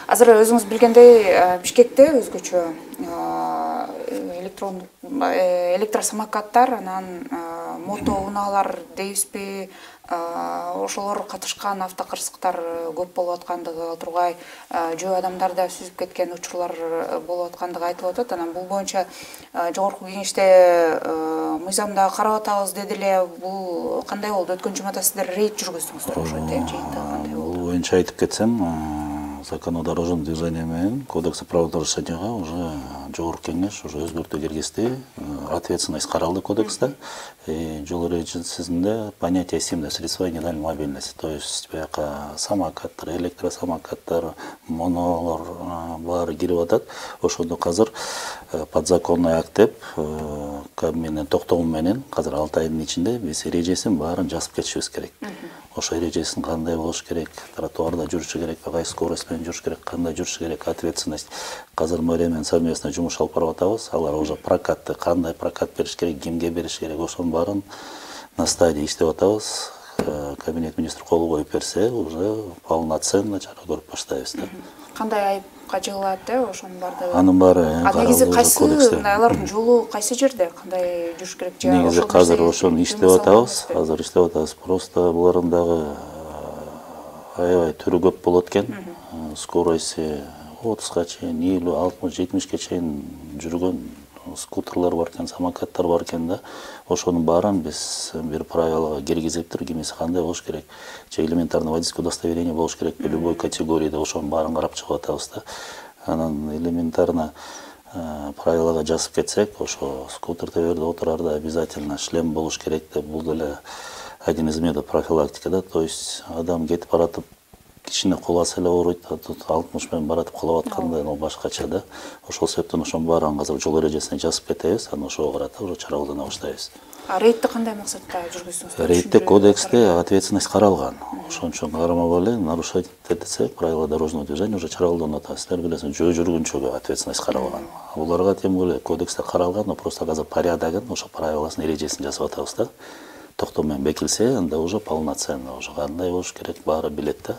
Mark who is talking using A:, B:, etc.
A: Азыр өзүңүз билгендей, Бишкекте өзгөчө электросамокаттар, анан мотоунаалар дейбизби, ошолор катышкан автокырсыктар көп болуп аткандыгы, тургай жөө адамдар да сүзүп кеткен учурлар болуп аткандыгы айтылып атат. Анан бул боюнча жогорку кеңеште мыйзамда карап атабыз деди эле. Бул кандай болду? Өткөн жумада сиздер рейд жүргүздүңүздөр ошо, жыйынтыгы кандай болду?
B: Бул боюнча айтып кетсем, закон о дорожном движении менен кодекс о правонарушенияга уже жогорку кеңеш уже өзгөртүү киргизди. Ответственность каралды кодексте. Жол эрежесинде понятие символьных средств индивидуальной мобильности, то есть бияка самокаттар, электросамокаттар, монолор баары кирип атат. Ошондо азыр подзаконный акт деп Кабминдин токтому менен азыр 6 айдын ичинде биз эрежесин баарын жазып кетишибиз керек. Ошо эрежесин кандай болуш керек, тротуарда жүрүшү керек, кайсы скорость менен жүрүш керек, кандай жүрүш керек, ответственность. Азыр мэрия менен совместно жумуш алып барып атабыз. Алар уже прокатты, кандай прокат бериш керек, кимге бериш керек, ошонун баарын на стадии иштеп атабыз. Кабинет министр кол коюп берсе, уже полноценно чара көрүп баштайбыз.
A: Кандай айыпка жыгылат ошонун баардыгы?
B: Анын баары
A: негизи кайсы алардын жолу кайсы жерде, кандай жүрүш керек?
B: Негизи азыр ошону иштеп атабыз. Азыр иштеп атабыз. Просто булардын дагы аябай түрү көп болот экен. Скорости 30га чейин, 50, 60, 70ке чейин жүргөн скутерлар бар экен, самокаттар бар экен да. Ошонун баарын биз бир правилага киргизиптир, кимиси кандай болуш керек, же элементарный водительское удостоверение болуш керек, любой категорияда ошонун баарын карап чыгып атабыз да. Анан элементарно правилага жазып кетсек, ошо скутер теберде отурарда обязательно шлем болуш керек деп, бул деле один из методов профилактики да. То есть адам кетип баратып кичине куласа эле ооруйт, 60 менен баратып кулап атканда башкача да. Ошол себептен ошонун баарын азыр жол эрежесине жазып кетебиз, анан ошого карата уже чара колдоно баштайбыз.
A: Рейдти кандай максатта жүргүздүңүздөр?
B: Рейдте кодексте ответственность каралган. Ошон үчүн кармабай эле нарушать этсе, правила дорожного движения уже чара колдонуп атат. Силер билесиңер, жөө жүргүнчүгө ответственность каралган. Буларга тем более кодексте каралган, но просто азыр порядогун, ошо правиласын, эрежесин жазып атабыз да. Токтом менен бекилсе, анда уже полноценно, уже кандай болуш керек баары билет да.